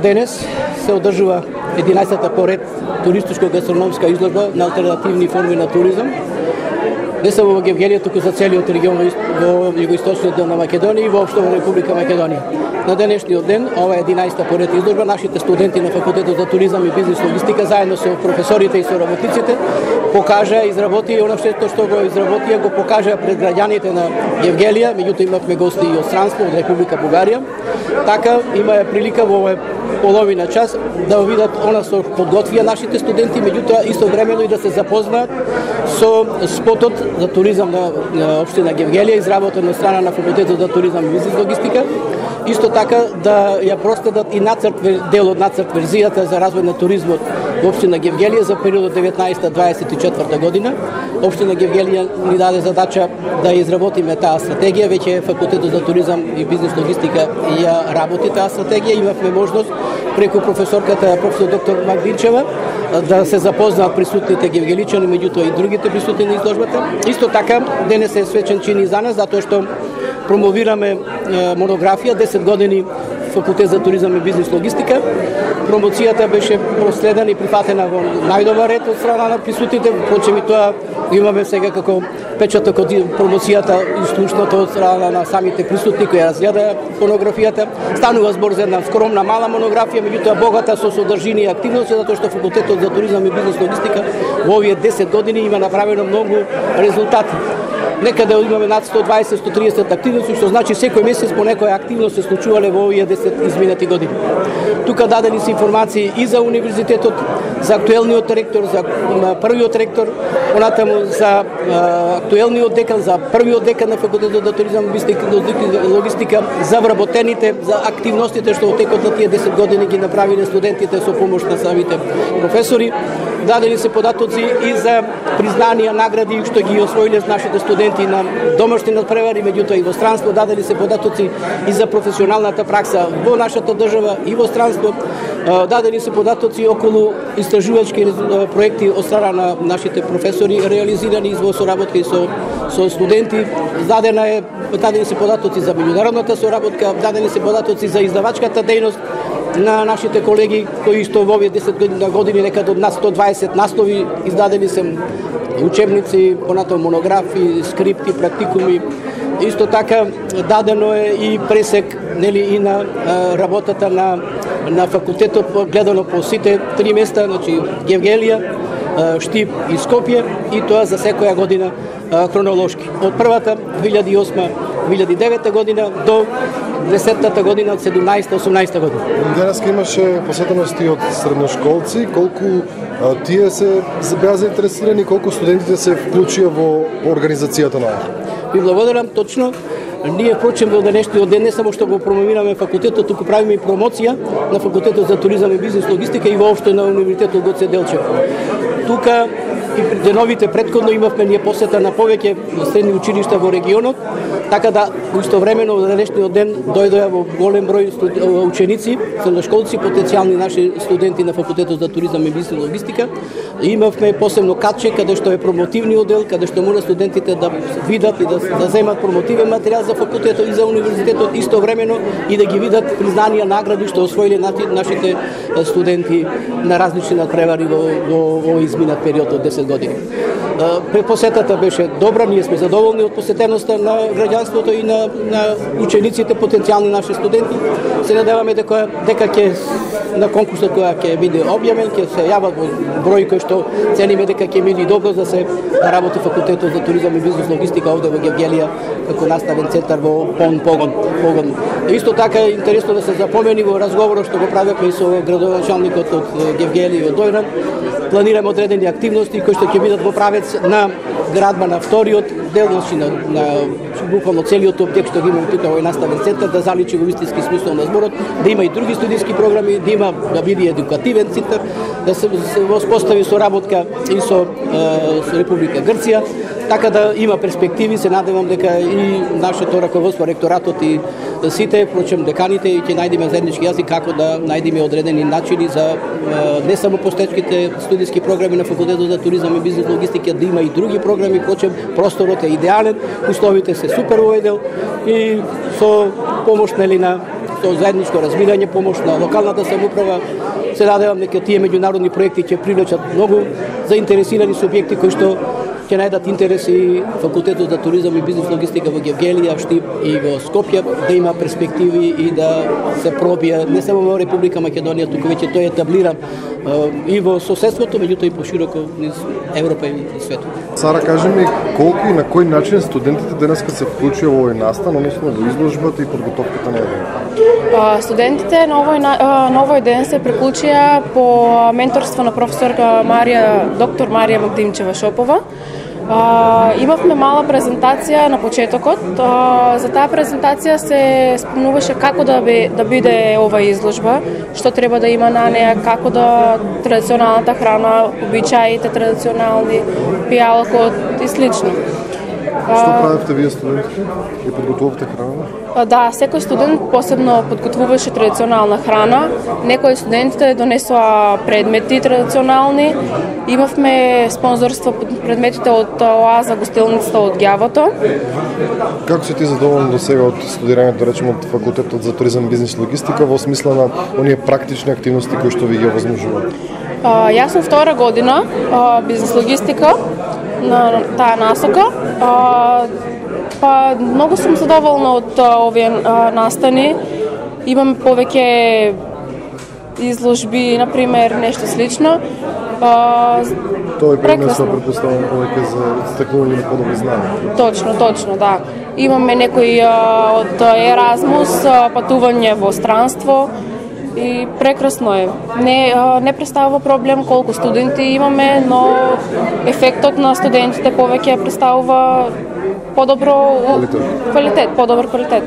Денес се одржува 11-та поред туристичко-гастрономска изложба на алтернативни форми на туризам. Не само во Гевгелија, туку за целиот регион во југоисточниот дел на Македонија и воопшто во Република Македонија. На денешниот ден, ова е 11-та поред изложба, нашите студенти на Факултетот за туризам и бизнис логистика заедно со професорите и со работниците покажа, изработи она што го изработија, го покажа пред граѓаните на Гевгелија, меѓутоа имавме гости и од странство, од Република Бугарија. Така има прилика во овој половина час да видат она што подготвија нашите студенти, меѓутоа истовремено и да се запознаат со спотот за туризам на општина Гевгелија, изработен од страна на Факултетот за туризам и бизнис логистика. Исто така да ја проследат и дел од нацрт верзијата за развој на туризмот во општина Гевгелија за периодот 19-24 година. Општина Гевгелија ни даде задача да изработиме таа стратегија, веќе Факултетот за туризам и бизнис логистика ја работи таа стратегија. Имавме можност преку професорката професор доктор Магдинчева да се запознаат присутните гевгеличани, меѓутоа и другите присутни на изложбата. Исто така денес е свечен чин и за нас, затоа што промовираме монографија 10 години Факултет за туризам и бизнис логистика. Промоцијата беше проследена и прифатена во најдобар ред од страна на присутните, впрочем и тоа имаме сега како печаток од промоцијата и слушното од страна на самите присутни кои разгледа монографијата. Станува збор за една скромна мала монографија, меѓутоа богата со содржина и активности, затоа што Факултетот за туризам и бизнис логистика во овие 10 години има направено многу резултати. Некаде имаме над 120-130 активности, што значи секој месец по некоја активност се случувале во овие 10 изминати години. Тука дадени се информации и за универзитетот, за актуелниот ректор, за првиот ректор, понатаму за актуелниот декан, за првиот декан на Факултетот за туризам и логистика, за вработените, за активностите што во текот на тие 10 години ги направиле студентите со помош на самите професори. Дадени се податоци и за признанија, награди што ги освоиле нашите студенти на домашни надпревари, меѓутоа и во странство. Дадени се податоци и за професионалната пракса во нашата држава и во странство. Дадени се податоци околу истражувачки проекти од страна на нашите професори, реализирани во соработка и со студенти. Дадени се податоци за меѓународната соработка, дадени се податоци за издавачката дејност на нашите колеги, кои што во овие 10 години некаде од нас 120 наслови издадени се учебници, понатаму монографии, скрипти, практикуми. Исто така дадено е и пресек и на работата на факултетот гледано по сите 3 места, значи Гевгелија, Штип и Скопје, и тоа за секоја година хронолошки. Од првата 2008-2009 година до 10-та година од 17-18 година. Денес имаше посетености од средношколци, колку тие се беа заинтересирани, колку студентите се вклучија во организацијата на ова? Ви благодарам, точно. Ние впрочем во денешниот ден не само што го промовираме факултетот, туку правиме и промоција на Факултетот за туризам и бизнис логистика и воопшто на Универзитетот Гоце Делчев. Тука и при деновите претходно имавме ние посета на повеќе средни училишта во регионот, така да истовремено во денешниот ден дојдоа во голем број ученици, средношколци, потенцијални наши студенти на Факултетот за туризам и бизнис логистика. Имавме посебно катче каде што е промотивниот дел, каде што може студентите да видат и да земат промотивен материјал за факултетот и за универзитетот, истовремено и да ги видат признанија, награди што освоиле нашите студенти на различни надпревари во изминат период од 10 години. Посетата беше добра, ние сме задоволни од посетеноста на граѓанството и на учениците, потенцијални наши студенти. Се надеваме дека ќе на конкурсот која ќе биде објавен, ќе се јават број кој што цениме дека ќе биде добро да се работи Факултетот за туризам и бизнис логистика овде во Гевгелија како наставен центар во погон. Исто така е интересно да се запомени во разговорот што го правевме и со градоначалникот од Гевгелија и од Дојран. Планираме одредени активности кои што ќе бидат во правец на градба на вториот дел, на буквално целиот објект што ги имаме тука во наставен центар, да заличи во вистински смисол на зборот, да има и други студиски програми, да биде едукативен центар, да се воспостави соработка и со Република Грција, така да има перспективи. Се надевам дека и нашето раководство, ректоратот и сите, впрочем деканите, ќе најдеме заеднички јазик како да најдеме одредени начини за не само постечките студиски програми на Факултетот за туризам и бизнис логистика, да има и други програми, впрочем просторот е идеален, условите се супер во овој дел и со помош на со заедничко разбирање, помош на локалната самоуправа. Се надевам дека тие меѓународни проекти ќе привлечат многу заинтересирани субјекти кои што ќе најдат интерес и факултетот за туризам и бизнис логистика во Гевгелија, Штип и во Скопје да има перспективи и да се пробија не само во Република Македонија, туку веќе тој е етаблиран и во соседството, меѓутоа и пошироко низ Европа и светот. Сара, кажи ми колку и на кој начин студентите денеска се вклучија во овој настан, односно во изложбата и подготовката на еден? Студентите на овој ден се приклучија по менторство на професорка доктор Марија Магдимчева Шопова. Имавме мала презентација на почетокот. За таа презентација се спомнуваше како да биде ова изложба, што треба да има на неа, како да традиционалната храна, обичаите традиционални, пијалкот и слично. Што правевте вие студентите и подготвувавте храна? Да, секој студент посебно подготвуваше традиционална храна. Некои студентите донесоа предмети традиционални. Имавме спонзорство предметите од Оаза гостилницата од Ѓавото. Како си ти задоволен до сега од студирањето, да речем, од факултетот за туризам, бизнис и логистика во смисла на оние практични активности кои што ви ги овозможуваат? Јас сум втора година бизнис логистика на таа насока. Многу сум задоволна од овие настани. Имам повеќе изложби, например, нешто слично. Тоа е пренесо, претпоставам, повеќе за стекнување на подобри знаења. Точно, да. Имаме некои од Еразмус, патување во странство. И прекрасно е. Не представува проблем колку студенти имаме, но ефектот на студентите повеќе представува подобро квалитет, подобар квалитет.